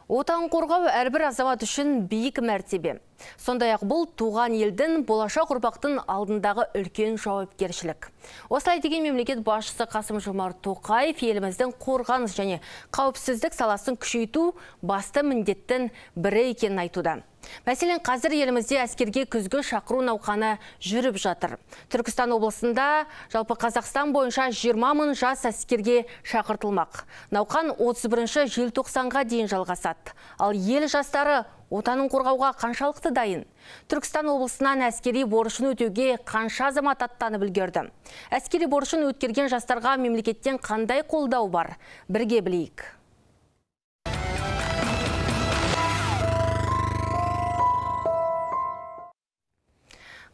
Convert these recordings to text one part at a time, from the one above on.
Отан қорғау әрбір азамат үшін биік мәртебе. Сондай-ақ бұл туған елдің болашақ ұрпақтың алдындағы үлкен жауапкершілік. Осылай деген мемлекет басшысы Қасым-Жомарт Тоқаев еліміздің қорғаныс және қауіпсіздік саласын күшейту басты міндеттің бірі екенін айтуда. Мәселен, қазір елімізде әскерге күзгі шақыру науқаны жүріп жатыр. Түркістан облысында жалпы Қазақстан бойынша 20 мың жас әскерге шақыртылмақ. Науқан 31 желтоқсанға дейін жалғасады. Ал ел жастары отанын қорғауға қаншалықты дайын? Түркістан облысынан әскери борышын өтеуге қанша азамат аттанып үлгерді? Әскери борышын өткерген жастарға мемлекеттен қандай қолдау бар? Бірге білейік.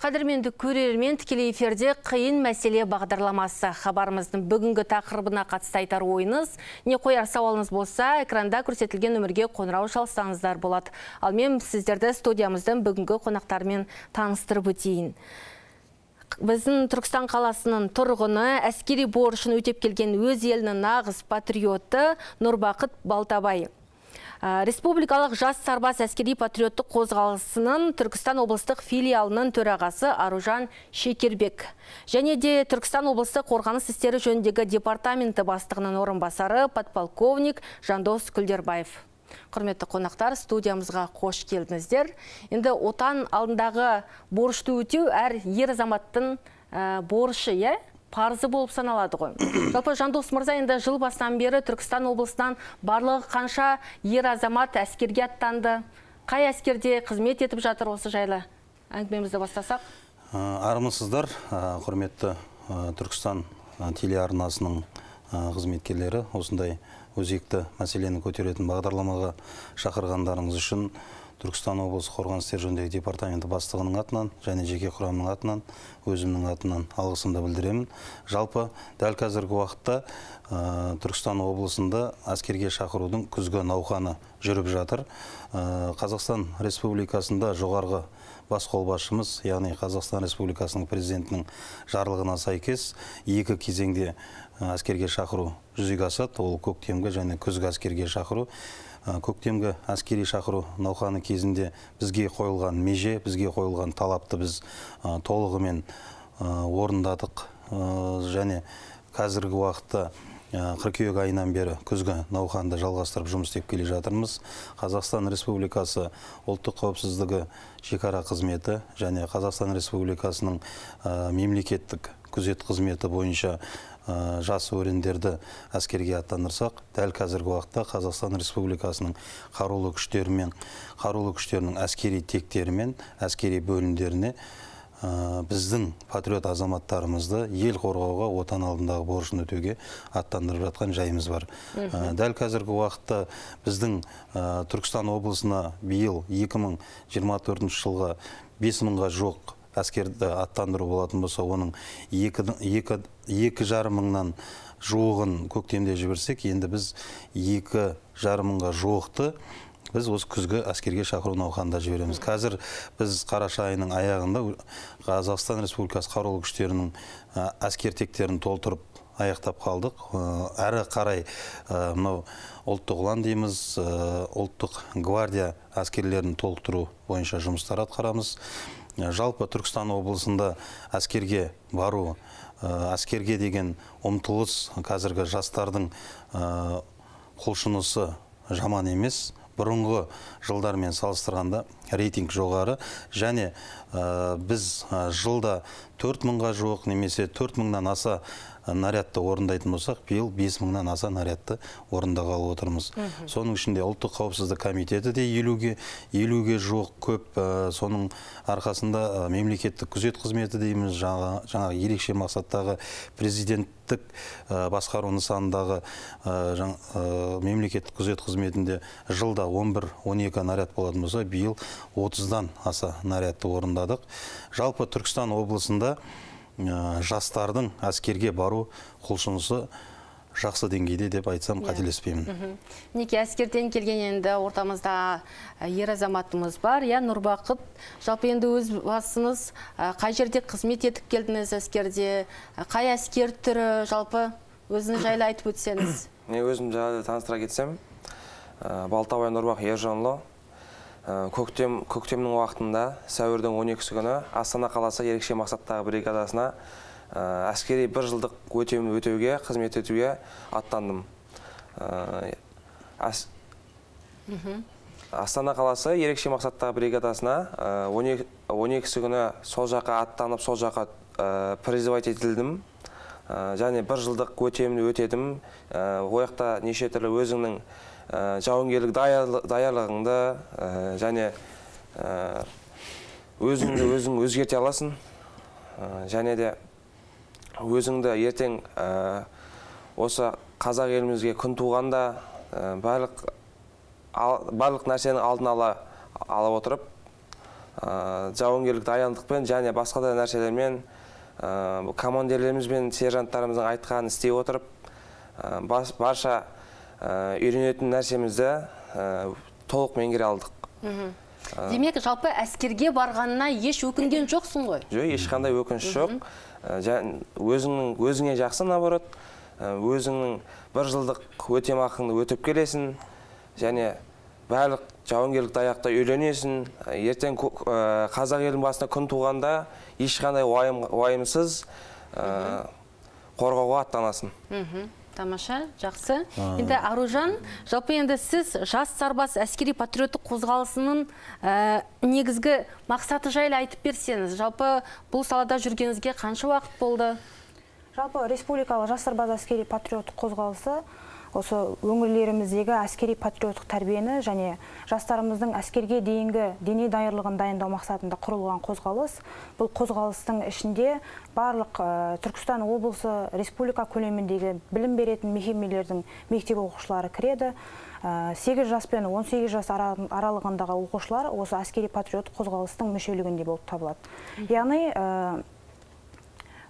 Қадірменді көрермен, тікелей эфирде қиын мәселе бағдарламасы. Хабарымыздың бүгінгі тақырыбына қатысты айтар ойыңыз, не қояр сауалыңыз болса, экранда көрсетілген нөмірге қоңырау шалсаңыздар болады. Ал мен сіздерді студиямыздың бүгінгі қонақтарымен таныстырып өтейін. Біздің Түркістан қаласының тұрғыны, әскери борышын өтеп келген өз елінің нағыз патриоты Нұрбақыт Балтабай. Республикалық жас сарбаз әскери патриоттық қозғалысының Түркістан облыстық филиалының төрағасы Аружан Шекербек. Және де Түркістан облыстық қорғаныс істері жөніндегі департаменті бастығының орынбасары подполковник Жандос Күлдербаев. Құрметті қонақтар, студиямызға қош келдіңіздер. Енді отан алдындағы борышты өтеу әр ер азаматтың борышы, парызы болып саналады ғой. Жалпы Жандос мырза, енді жыл басынан бері Түркістан облысынан барлығы қанша ер азамат әскерге аттанды? Қай әскерде қызмет етіп жатыр, осы жайлы әңгімемізді бастасақ? Армысыздар, құрметті Түркістан телеарнасының қызметкерлері, осындай өзекті мәселені көтеретін бағдарламаға шақырғандарыңыз үшін Түркістан облысы қорғаныс істері жөніндегі департаменті бастығының атынан және жеке құрамның атынан, өзімнің атынан алғысымды білдіремін. Жалпы дәл қазіргі уақытта Түркістан облысында әскерге шақырудың күзгі науқаны жүріп жатыр. Қазақстан Республикасында жоғарғы бас қолбасшымыз, яғни Қазақстан Республикасының президентінің жарлығына сәйкес екі кезеңде әскерге шақыру жүзеге асады. Ол көктемгі және күзгі әскерге шақыру. Көктемгі әскери шақыру науқаны кезінде бізге қойылған меже, бізге қойылған талапты біз толығымен орындадық. Және қазіргі уақытта қыркүйек айынан бері күзгі науқанды жалғастырып жұмыс істеп келе жатырмыз. Қазақстан Республикасы ұлттық қауіпсіздігі шекара қызметі және Қазақстан Республикасының мемлекеттік күзет қызметі бойынша жас өрендерді әскерге аттандырсақ, дәл қазіргі уақытта Қазақстан Республикасының қарулы күштерінің әскери тектерімен, әскери бөлімдеріне біздің патриот азаматтарымызды ел қорғауға, отан алдындағы борышын өтеуге аттандырып жатқан жайымыз бар. Дәл қазіргі уақытта біздің Түркістан облысына биыл 2024 жылға 5 мыңға жоқ әскерді аттандыру болатын болса, оның 2,5 мыңнан жуығын көктемде жіберсек, енді біз 2,5 мыңға жуықты біз осы күзгі әскерге шақыру науқанында жібереміз. Қазір біз қараша айының аяғында Қазақстан Республикасы қарулы күштерінің әскер тектерін толтырып аяқтап қалдық. Әрі қарай мынау ұлттық ұлан дейміз, ұлттық гвардия әскерлерін толықтыру бойынша жұмыстар атқарамыз. Жалпы Түркістан облысында әскерге бару, әскерге деген ұмтылыс қазіргі жастардың құлшынысы жаман емес. Бұрынғы жылдармен салыстырғанда рейтинг жоғары, және біз жылда 4 мыңға жуық немесе 4 мыңнан аса нарядты орындайтын болсақ, биыл 5 мыңнан аса нарядты орындағалы отырмыз. Соның ішінде ұлттық қауіпсіздік комитеті де 50-ге жуық көп. Соның арқасында мемлекеттік күзет қызметі дейміз, жаңа ерекше мақсаттағы президенттік басқару нысанындағы мемлекеттік күзет қызметінде жылда 11-12 наряд болатын болса, биыл 30-дан аса нарядты орындадық. Жалпы Түркістан облысында жастардың әскерге бару құлшынысы жақсы деңгейде деп айтсам қателеспеймін. Неке әскерден келген енді ортамызда ер азаматымыз бар, Нұрбақыт. Жалпы енді өз басыңыз қай жерде қызмет етіп келдіңіз әскерде, қай әскер түрі, жалпы өзіңіз жайлы айтып өтсеңіз? Өзім жайлы таныстыра кетсем, Балтабай Нұрбақ Ержанұлы. Көктемнің уақытында, сәуірдің 12-сі күні Астана қаласы ерекше мақсаттағы бригадасына әскери 1 жылдық өтемін өтеуге, қызмет етуге аттандым. Астана қаласы ерекше мақсаттағы бригадасына 12-сі күні сол жаққа аттанып, сол жаққа призывать етілдім. Және 1 жылдық өтемін өтедім. Ояқта неше түрлі өзіңнің жауынгерлік даярлығыңды және өзіңді өзгерте аласың. Және де өзіңді ертең осы қазақ елімізге күн туғанда барлық нәрсенің алдын алып отырып, жауынгерлік дайындықпен және басқа да нәрселермен командирлеріміз бен сержанттарымыздың айтқанын істей отырып, барша үйренетін нәрсемізді толық меңгере алдық. Демек, жалпы әскерге барғанына еш өкінген жоқсың ғой? Жоқ, ешқандай өкініш жоқ. Өзіңе жақсы, наоборот, өзіңнің 1 жылдық өтемақыңды өтіп келесің, және барлық жауынгерлік даяқта үйренесің. Ертең қазақ елінің басына күн туғанда ешқандай уайымсыз қорғауға аттанасың. Тамаша, жақсы. Енді Аружан, жалпы енді сіз жас сарбаз әскери патриоттық қозғалысының негізгі мақсаты жайлы айтып берсеңіз, жалпы бұл салада жүргеніңізге қанша уақыт болды? Жалпы республикалық жас сарбаз әскери патриоттық қозғалысы осы өңірлеріміздегі әскери патриоттық тәрбиені және жастарымыздың әскерге дейінгі дене даярлығын дайындау мақсатында құрылған қозғалыс. Бұл қозғалыстың ішінде барлық Түркістан облысы республика көлеміндегі білім беретін мекемелердің мектеп оқушылары кіреді. 8 жас пен 18 жас аралығындағы оқушылар осы әскери патриоттық қозғалыстың мүшелігінде болып табылады. Яғни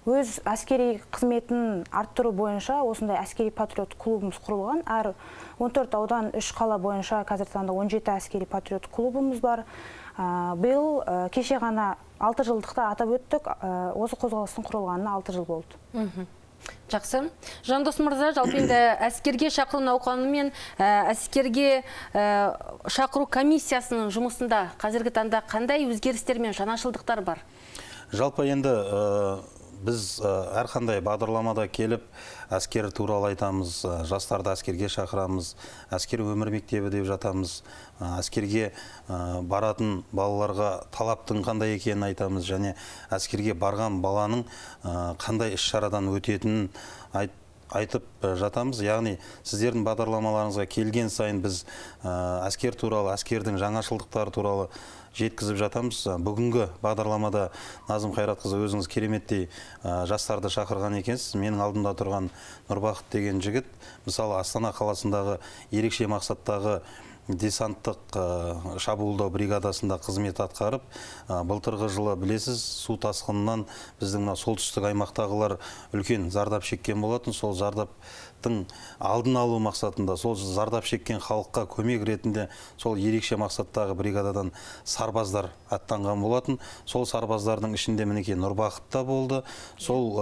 өз әскери қызметін арттыру бойынша осындай әскери патриот клубымыз құрылған. Әр 14 аудан 3 қала бойынша қазіргі таңда 17 әскери патриот клубымыз бар. Биыл кеше ғана 6 жылдықты атап өттік. Осы қозғалыстың құрылғанына 6 жыл болды. Жақсы. Жандос мырза, жалпы енді әскерге шақыру науқаны мен әскерге шақыру комиссиясының жұмысында қазіргі таңда қандай өзгерістер мен жаңашылдықтар бар? Жалпы енді біз әрқандай бағдарламада келіп, әскер туралы айтамыз, жастарды әскерге шақырамыз, әскер өмір мектебі деп жатамыз, әскерге баратын балаларға талаптың қандай екенін айтамыз, және әскерге барған баланың қандай іс-шарадан өтетінін айтып жатамыз. Яғни сіздердің бағдарламаларыңызға келген сайын біз әскер туралы, әскердің жаңашылдықтары туралы жеткізіп жатамыз. Бүгінгі бағдарламада Назым Қайратқызы өзіңіз кереметтей жастарды шақырған екенсіз. Менің алдымда тұрған Нұрбақыт деген жігіт, мысалы Астана қаласындағы ерекше мақсаттағы десанттық шабуылдау бригадасында қызмет атқарып, былтырғы жылы білесіз, су тасқынынан біздің солтүстік аймақтағылар үлкен зардап шеккен болатын. Сол зардаптың алдын алу мақсатында, сол зардап шеккен халыққа көмек ретінде сол ерекше мақсаттағы бригададан сарбаздар аттанған болатын. Сол сарбаздардың ішінде мінекей Нұрбақыт та болды. Сол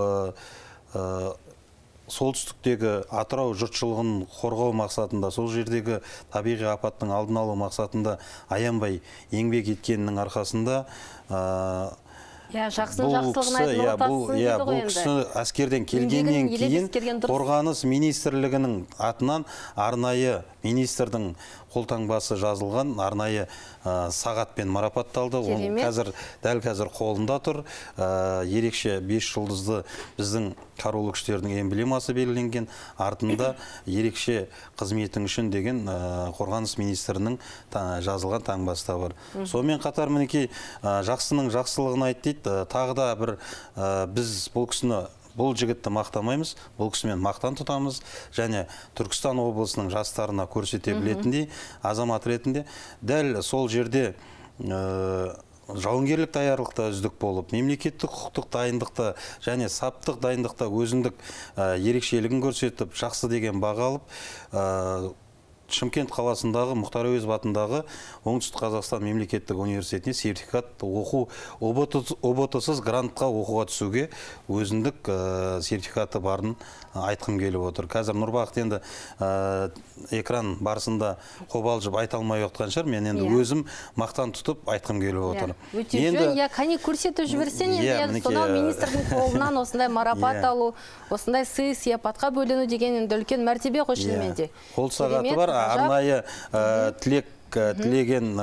солтүстіктегі Атырау жұртшылығын қорғау мақсатында, сол жердегі табиғи апаттың алдын алу мақсатында аянбай еңбек еткенінің арқасында бұл кісі әскерден келгеннен кейін қорғаныс министрлігінің атынан арнайы министрдің қолтаңбасы жазылған арнайы сағатпен марапатталды. Ол дәл қазір қолында тұр. Ерекше 5 жұлдызды біздің қарулы күштердің эмблемасы белгіленген. Артында ерекше қызметің үшін деген қорғаныс министрінің жазылған таңбасы да бар. Сонымен қатар мінекей жақсының жақсылығын айт дейді. Тағы да бір біз бұл жігітті мақтамаймыз, бұл кісімен мақтан тұтамыз, және Түркістан облысының жастарына көрсете білетіндей, азамат ретінде дәл сол жерде жауынгерлік даярлықта үздік болып, мемлекеттік құқықтық дайындықта және саптық дайындықта өзіндік ерекшелігін көрсетіп, жақсы деген баға алып, Шымкент қаласындағы Мұхтар Әуезов атындағы Оңтүстік Қазақстан мемлекеттік университетіне сертификат оқу ұбт-сыз грантқа оқуға түсуге өзіндік сертификаты барын айтқым келіп отыр. Қазір Нұрбақыт енді экран барысында қобалжып айта алмай отқан шығар, мен енді өзім мақтан тұтып айтқым келіп отыр. Өте жөн, кәне көрсетіп жіберсен, енді сонау министрдің қолынан осындай марапат алу, осындай сый сияпатқа бөлену деген енді үлкен мәртебе ғой шынымен де. Қол сағаты бар, арнайы тілеген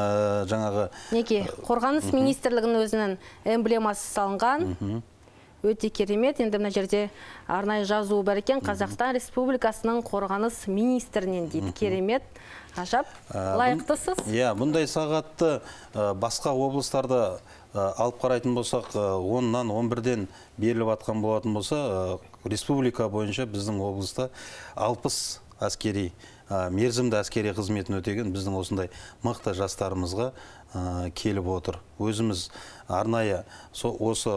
жаңағы... Неке, Қорғаныс министрлігінің өзінің эмблемасы салынған. Өте керемет. Енді мына жерде арнайы жазуы бар екен, Қазақстан Республикасының Қорғаныс министрінен дейді. Керемет. Ғажап. Лайықтысыз? Бұндай сағатты басқа облыстарда алып қарайтын болсақ, 10-нан 11-ден беріліп атқан болатын болса, республика бойынша біздің облыста 60 әскери, мерзімді әскери қызметін өтеген біздің осындай мықты жастарымызға келіп отыр. Өзіміз арнайы осы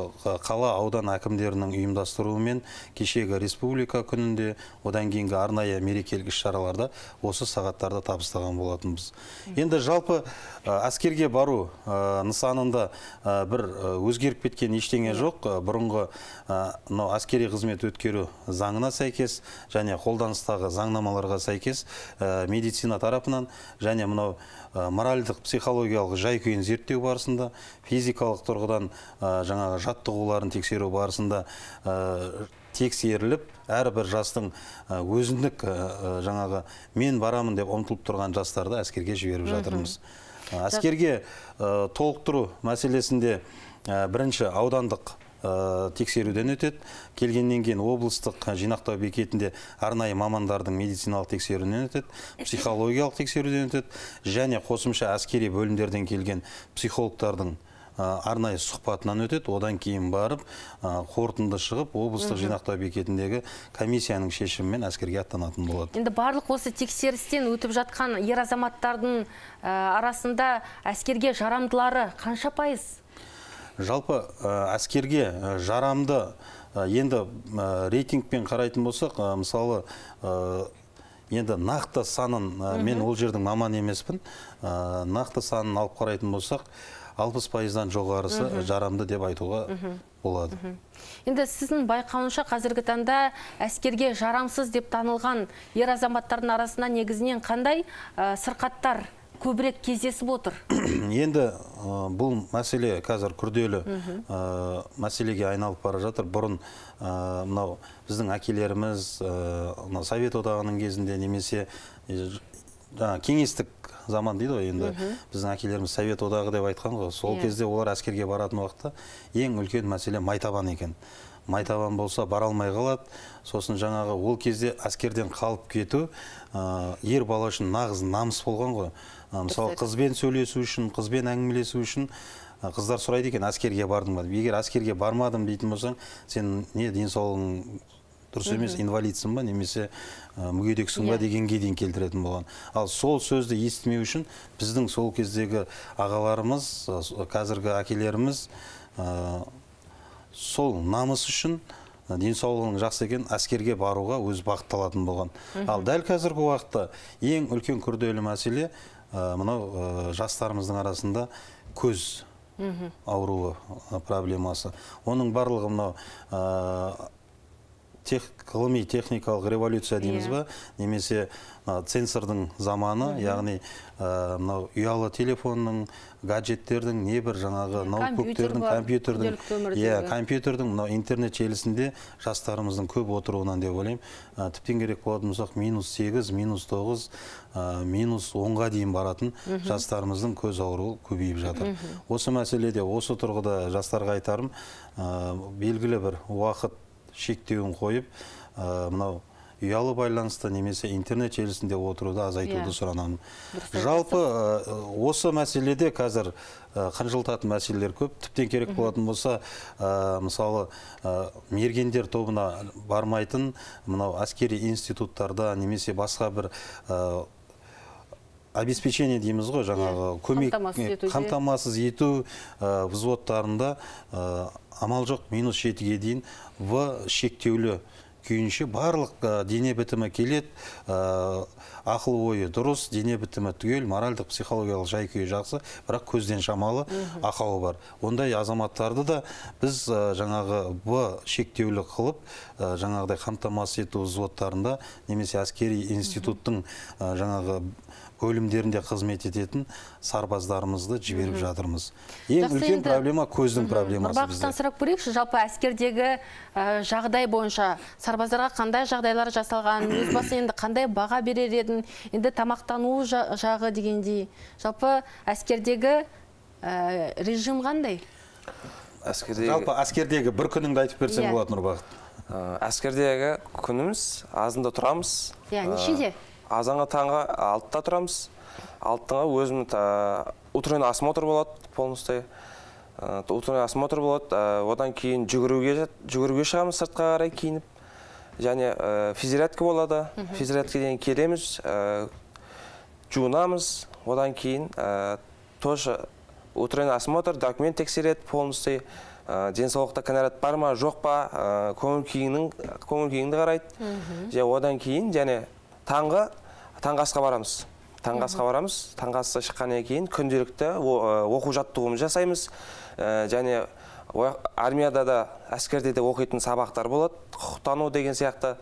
қала аудан әкімдерінің ұйымдастыруымен кешегі республика күнінде, одан кейінгі арнайы мерекелік іс-шараларда осы сағаттарды табыстаған болатынбыз. Енді жалпы әскерге бару нысанында бір өзгеріп кеткен ештеңе жоқ. Бұрынғы әскери қызмет өткеру заңына сәйкес және қолданыстағы заңнамаларға сәйкес медицина тарапынан және мынау моральдық психологиялық жай-күйін зерттеу барысында, физикалық тұрғыдан жаңағы жаттығуларын тексеру барысында тексеріліп, әрбір жастың өзіндік жаңағы мен барамын деп ұмтылып тұрған жастарды әскерге жіберіп жатырмыз. Әскерге толықтыру мәселесінде бірінші аудандық тексеруден өтеді. Келгеннен кейін облыстық жинақтау бекетінде арнайы мамандардың медициналық тексеруден өтеді, психологиялық тексеруден өтеді, және қосымша әскери бөлімдерден келген психологтардың арнайы сұхбатынан өтеді. Одан кейін барып, қорытынды шығып, облыстық жинақтау бекетіндегі комиссияның шешімімен әскерге аттанатын болады. Енді барлық осы тексерістен өтіп жатқан ер азаматтардың арасында әскерге жарамдылары қанша пайыз? Жалпы әскерге жарамды енді рейтингпен қарайтын болсақ, мысалы енді нақты санын, мен ол жердің маман емеспін, нақты санын алып қарайтын болсақ, 60%-дан жоғарысы жарамды деп айтуға болады. Енді сіздің байқауынша қазіргі таңда әскерге жарамсыз деп танылған ер азаматтардың арасында негізінен қандай сырқаттар көбірек кездесіп отыр? Енді бұл мәселе қазір күрделі мәселеге айналып бара жатыр. Бұрын мынау біздің әкелеріміз Совет одағының кезінде немесе кеңестік заман дейді ғой, енді біздің әкелеріміз Совет одағы деп айтқан ғой. Сол кезде олар әскерге баратын уақытта ең үлкен мәселе майтабан екен. Майтабан болса бара алмай қалады. Сосын жаңағы ол кезде әскерден қалып кету ер бала үшін нағыз намыс болған ғой. Мысалы, қызбен сөйлесу үшін, қызбен әңгімелесу үшін қыздар сұрайды екен, әскерге бардың ба? Егер әскерге бармадым дейтін болсаң, сен не денсаулығың дұрыс емес, инвалидсің ба, немесе мүгедексің ба дегенге дейін келтіретін болған. Ал сол сөзді естімеу үшін біздің сол кездегі ағаларымыз, қазіргі әкелеріміз сол намыс үшін денсаулығының жақсы екен әскерге баруға өз бағытталатын болған. Ал дәл қазіргі уақытта ең үлкен күрделі мәселе мынау жастарымыздың арасында көз ауруы проблемасы. Оның барлығы мынау ғылыми техникалық революция дейміз ба, немесе цензордың заманы, яғни ұялы телефонның, гаджеттердің, небір жаңағы ноутбуктердің, компьютердің, интернет желісінде жастарымыздың көп отыруынан деп ойлаймын. Тіптен керек болатын болсақ, -8, -9, -10-ға дейін баратын жастарымыздың көз ауруы көбейіп жатыр. Осы мәселеде, осы тұрғыда жастарға айтарым, белгілі бір уақыт шектеуін қойып, мынау ұялы байланысты немесе интернет желісінде отыруды азайтуды сұранамын. Жалпы осы мәселеде қазір қынжылтатын мәселелер көп. Тіптен керек болатын болса, мысалы, мергендер тобына бармайтын мынау әскери институттарда немесе басқа бір обеспечение дейміз ғой, жаңағы көмек қамтамасыз ету взводтарында амал жоқ -7-ге дейін В шектеулі күйінше барлық дене бітімі келет, ақыл ойы дұрыс, дене бітімі түгел, моральдық, психологиялық жай-күйі жақсы, бірақ көзден шамалы ақауы бар. Ондай азаматтарды да біз жаңағы шектеулі қылып, жаңағыдай қамтамасыз ету взводтарында немесе әскери институттың жаңағы бөлімдерінде қызмет ететін сарбаздарымызды жіберіп жатырмыз. Ең үлкен проблема көздің проблемасы бізде. Нұрбақыттан сұрап көрейікші, жалпы әскердегі жағдай бойынша сарбаздарға қандай жағдайлар жасалған, өз басы енді қандай баға берер едің, енді тамақтану жағы дегендей. Жалпы әскердегі режим қандай? Жалпы әскердегі бір күніңді айтып берсең болады, Нұрбақыт. Әскердегі күніміз азында тұрамыз. Нешеде? Азанға таңға 6-та тұрамыз. 6-тыңа өзім утренний осмотр болады, полностью. Утренний осмотр болады. Одан кейін жүгіруге шығамыз сыртқа қарай киініп. Және физзарядка болады. Физзарядкеден келеміз, жуынамыз. Одан кейін тоже утренний осмотр, документ тексереді полностью. Денсаулықта кінәрат бар ма, жоқ па, көңіл күйіңді қарайды. Одан кейін және таңғы асқа барамыз. Таңғы асқа шыққаннан кейін күнделікті оқу жаттығуымыз жасаймыз. Және армияда да, әскерде де оқитын сабақтар болады. Құқықтану деген сияқты.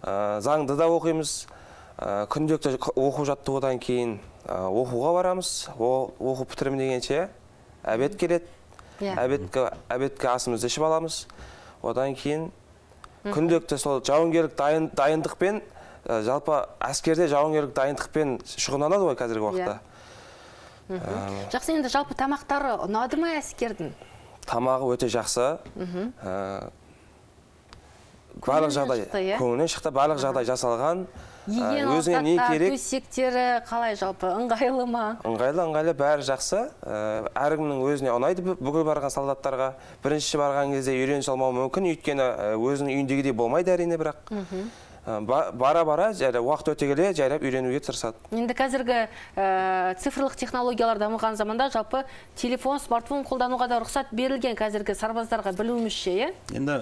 Заңды да оқимыз. Күнделікті оқу жаттығудан кейін оқуға барамыз. Оқу бітірім дегенше әбет келеді. Әбетке асымызды ішіп аламыз. Одан кейін күнделікті сол жауынгерлік дайындықпен, жалпы әскерде жауынгерлік дайындықпен шұғылданады ғой қазіргі уақытта. Жақсы, енді жалпы тамақтары ұнады ма әскердің? Тамағы өте жақсы. Барлық жағдай, көңілінен шықты, барлық жағдай жасалған. Өзіңе не керек? Төсектері қалай жалпы? Ыңғайлы ма? Ыңғайлы, бәрі жақсы. Әркімнің өзіне ұнайды бүкіл барған солдаттарға. Бірінші барған кезде үйрене салмауы мүмкін, өйткені өзінің үйіндегідей болмайды әрине, бірақ бара-бара уақыт өте келе жайлап үйренуге тырысады. Енді қазіргі цифрлық технологиялар дамыған заманда жалпы телефон, смартфон қолдануға да рұқсат берілген қазіргі сарбаздарға білуімізше, Енді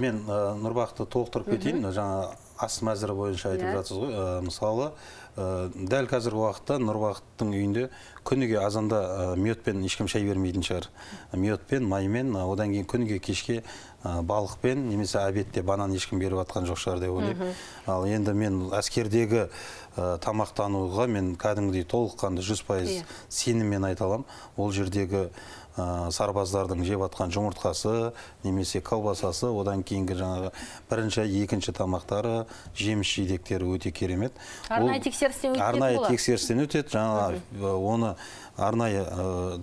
мен Нұрбақты толықтырып кетейін, жаңа ас мәзірі бойынша айтып жатсыз ғой. Мысалы, дәл қазіргі уақытта Нұрбақыттың үйінде күніге азанда миотпен ешкім шай бермейтін шығар. Миотпен, маймен, одан кейін күніге кешке балықпен, немесе обедте банан ешкім беріп атқан жоқ шығар деп ойлаймын. Ал енді мен әскердегі тамақтануға мен кәдімгідей толыққанды 100% сеніммен айта аламын. Ол жердегі сарбаздардың жеп атқан жұмыртқасы, немесе колбасасы, одан кейінгі жаңағы бірінші, екінші тамақтары, жеміс жидектері өте керемет. Арнайы тексерістен өтеді болады? Арнайы тексерістен өтеді. Жаңағы оны арнайы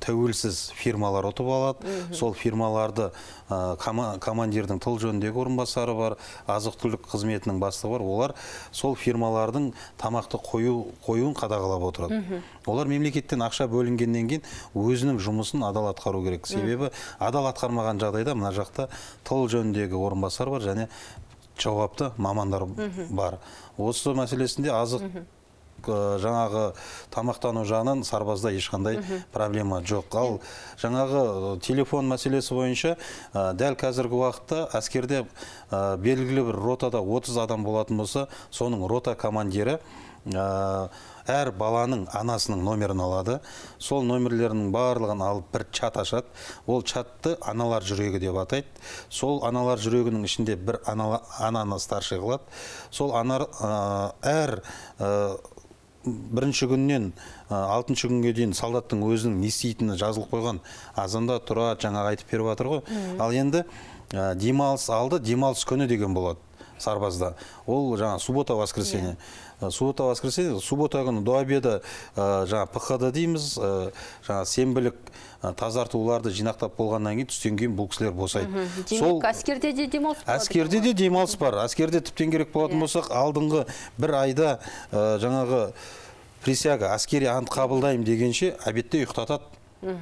тәуелсіз фирмалар ұтып алады. Сол фирмаларды командирдің тыл жөніндегі орынбасары бар, азық-түлік қызметінің бастығы бар. Олар сол фирмалардың тамақты қоюын қадағалап отырады. Олар мемлекеттен ақша бөлінгеннен кейін өзінің жұмысын адал атқару керек. Себебі адал атқармаған жағдайда мына жақта тыл жөніндегі орынбасар бар және жауапты мамандар бар. Осы мәселесінде азық жаңағы тамақтану жағынан сарбазда ешқандай проблема жоқ. Ал жаңағы телефон мәселесі бойынша дәл қазіргі уақытта әскерде белгілі бір ротада 30 адам болатын болса, соның рота командирі әр баланың анасының номерін алады. Сол номерлерінің барлығын алып бір чат ашады. Ол чатты аналар жүрегі деп атайды. Сол аналар жүрегінің ішінде бір ананы старший қылады. Сол әр бірінші күннен 6-шы күнге дейін солдаттың өзінің не істейтіні жазылып қойған. Азанда тұрады, жаңағы айтып беріп жатыр ғой. Ал енді демалыс алды, демалыс күні деген болады сарбазда. Ол жаңа суббота-воскресенье. Суббота-воскресенье, суббота күні до обеда жаңа ПХД дейміз, жаңа сенбілік тазартуларды жинақтап болғаннан кейін түстен кейін бұл кісілер босайды. Демек, әскерде де демалыс бар? Әскерде де демалыс бар. Әскерде тіптен керек болатын болсақ, алдыңғы бір айда жаңағы присяга, әскери ант қабылдаймын дегенше обедте ұйықтатады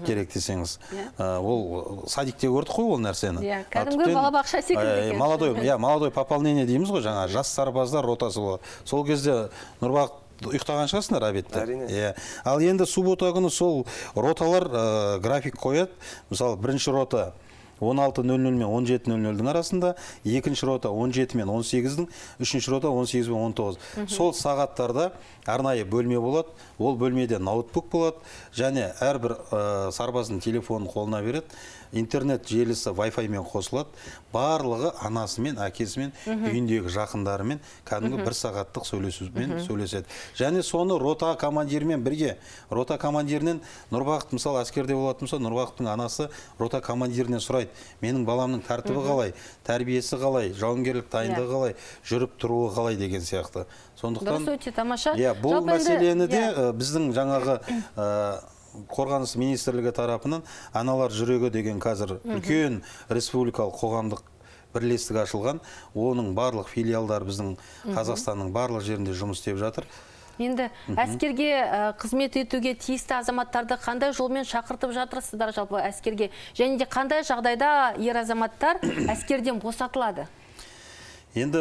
керек десеңіз. Ол садикте көрдік қой ол нәрсені. Кәдімгі балабақша секілді. Молодой пополнение дейміз ғой, жаңа жас сарбаздар ротасы болады. Сол кезде Нұрбақ ұйықтаған шығасыңдар обедте. Ал енді суббота күні сол роталар график қояды. Мысалы, бірінші рота 16:00 мен 17:00-дің арасында, екінші рота 17 мен 18-дің, үшінші рота 18 мен 19. Сол сағаттарда арнайы бөлме болады. Ол бөлмеде ноутбук болады, және әрбір сарбаздың телефонын қолына береді. Интернет желісі Wi-Fi мен қосылады. Барлығы анасымен, әкесімен, үйіндегі жақындарымен кәдімгі 1 сағаттық сөйлеседі. Және соны рота командирімен бірге, рота командирінен Нұрбақыт, мысалы, әскерде болатын болса, Нұрбақыттың анасы рота командирінен сұрайды: менің баламның тәртібі қалай, тәрбиесі қалай, жауынгерлік дайындығы қалай, жүріп тұруы қалай деген сияқты. Сондықтан дұрыс, өте тамаша. Бұл мәселені де біздің жаңағы Қорғаныс министрлігі тарапынан аналар жүрегі деген қазір үлкен республикалық қоғамдық бірлестік ашылған. Оның барлық филиалдары біздің Қазақстанның барлық жерінде жұмыс істеп жатыр. Енді әскерге қызмет етуге тиісті азаматтарды қандай жолмен шақыртып жатырсыздар жалпы әскерге? Және де қандай жағдайда ер азаматтар әскерден босатылады? Енді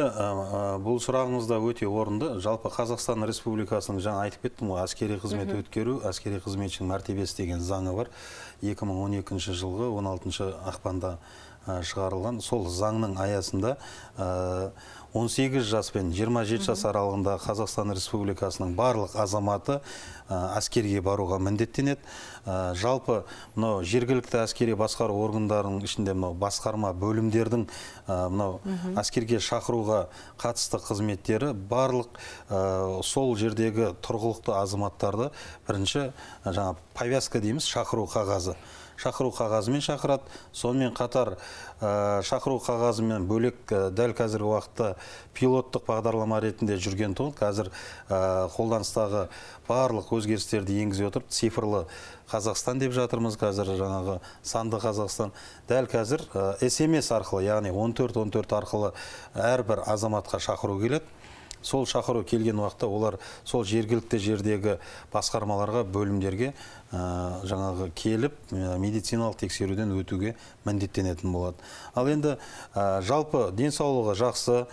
бұл сұрағыңызда өте орынды. Жалпы Қазақстан Республикасының, жаңа айтып кеттім ғой, әскери қызмет өткеру, әскери қызметшінің мәртебесі деген заңы бар. 2012 жылғы 16 ақпанда шығарылған. Сол заңның аясында 18 жас пен 27 жас аралығында Қазақстан Республикасының барлық азаматы әскерге баруға міндеттенеді. Жалпы жергілікті әскери басқару органдарының ішінде басқарма бөлімдердің әскерге шақыруға қатысты қызметтері барлық сол жердегі тұрғылықты азаматтарды бірінші повязка дейміз, шақыру қағазы. Шақыру қағазымен шақырады. Сонымен қатар шақыру қағазымен бөлек дәл қазіргі уақытта пилоттық бағдарлама ретінде жүрген тұғын. Қазір қолданыстағы барлық өзгерістерді енгізе отырып, цифрлы Қазақстан деп жатырмыз. Қазір жаңағы санды Қазақстан. Дәл қазір SMS арқылы, яғни 1414 арқылы әрбір азаматқа шақыру келеді. Сол шақыру келген уақытта олар сол жергілікті жердегі басқармаларға, бөлімдерге жаңағы келіп медициналық тексеруден өтуге міндеттенетін болады. Ал енді жалпы денсаулығы жақсы,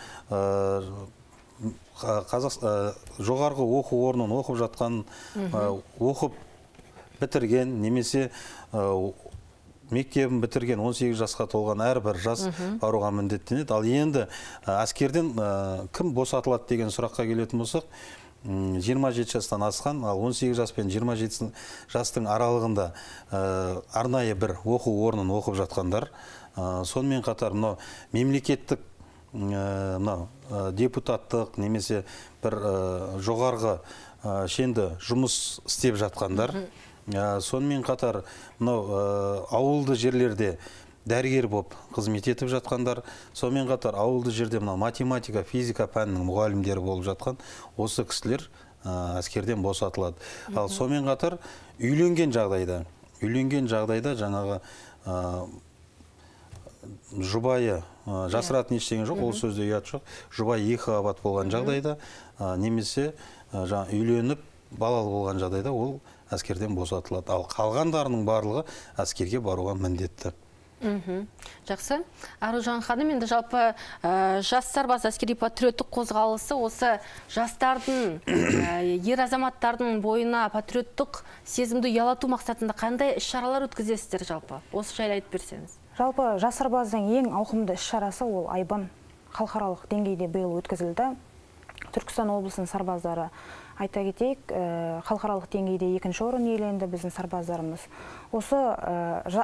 жоғарғы оқу орнын оқып жатқан, оқып бітірген, немесе мектебін бітірген 18 жасқа толған әрбір жас баруға міндеттенеді. Ал енді әскерден кім босатылады деген сұраққа келетін болсақ, 27 жастан асқан, ал 18 жас пен 27 жастың аралығында арнайы бір оқу орнын оқып жатқандар, сонымен қатар мемлекеттік депутаттық немесе бір жоғарғы шенді жұмыс істеп жатқандар, сонымен қатар ауылды жерлерде дәрігер болып қызмет етіп жатқандар, сонымен қатар ауылды жерде математика, физика пәнінің мұғалімдері болып жатқан осы кісілер әскерден босатылады. Ал сонымен қатар үйленген жағдайда жаңағы жұбайы, жасыратын ештеңе жоқ, ол сөзде ұят жоқ, жұбайы екі қабат болған жағдайда, немесе үйленіп балалы болған жағдайда ол әскерден босатылады. Ал қалғандарының барлығы әскерге баруға міндетті. Жақсы. Аружан ханым, енді жалпы жас сарбаз әскери патриоттық қозғалысы осы жастардың, ер азаматтардың бойына патриоттық сезімді ұялату мақсатында қандай іс-шаралар өткізесіздер жалпы? Осы жайлы айтып берсеңіз. Жалпы жас сарбаздың ең ауқымды іс-шарасы ол айбын халықаралық деңгейде биыл өткізілді. Түркістан облысының сарбаздары, айта кетейік, халықаралық деңгейде екінші орын иеленді біздің сарбаздарымыз. Осы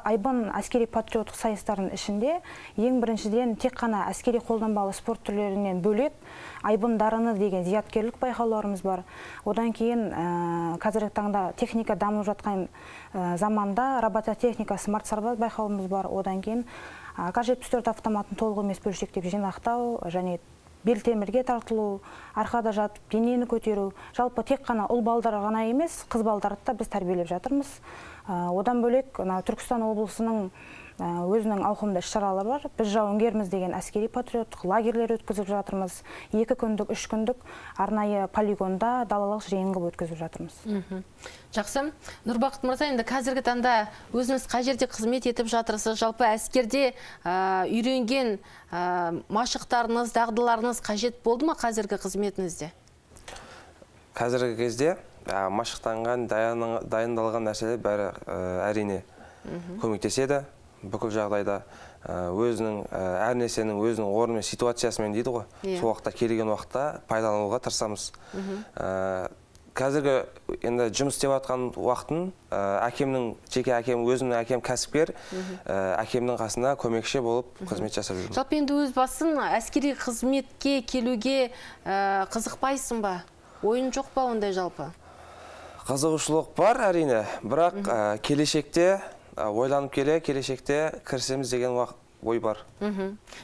айбын әскери патриоттық сайыстардың ішінде ең біріншіден тек қана әскери қолданбалы спорт түрлерінен бөлек айбын дарыны деген зияткерлік байқауларымыз бар. Одан кейін қазіргі таңда техника дамып жатқан заманда робототехника смарт сарбаз байқауымыз бар. Одан кейін AK-74 автоматын толық емес бөлшектеп жинақтау және белтемірге тартылу, арқада жатып денені көтеру. Жалпы тек қана ұл балдар ғана емес, қыз балдарды да біз тәрбиелеп жатырмыз. Одан бөлек Түркістан облысының өзінің ауқымды іс-шаралары бар. Біз жауынгерміз деген әскери патриоттық лагерлер өткізіп жатырмыз. 2 күндік, 3 күндік арнайы полигонда далалық жиын қылып өткізіп жатырмыз. Жақсы. Нұрбақыт мырза, енді қазіргі таңда өзіңіз қай жерде қызмет етіп жатырсыз? Жалпы әскерде үйренген машықтарыңыз, дағдыларыңыз қажет болды ма қазіргі қызметіңізде? Қазіргі кезде машықтанған, дайындалған нәрселер бәрі әрине көмектеседі бүкіл жағдайда. өзінің әр нәрсенің өзінің орнымен ситуациясымен дейді ғой. Сол уақытта келген уақытта пайдалануға тырысамыз. Қазіргі енді жұмыс істеп жатқан уақытын жеке әкем, өзімнің әкем кәсіпкер, әкемнің қасында көмекші болып қызмет жасап жүрмін. Жалпы енді өз басын әскери қызметке келуге қызықпайсың ба? Ойын жоқ па ондай жалпы? Қызығушылық бар әрине, бірақ келешекте ойланып келешекте кірісеміз деген ой бар.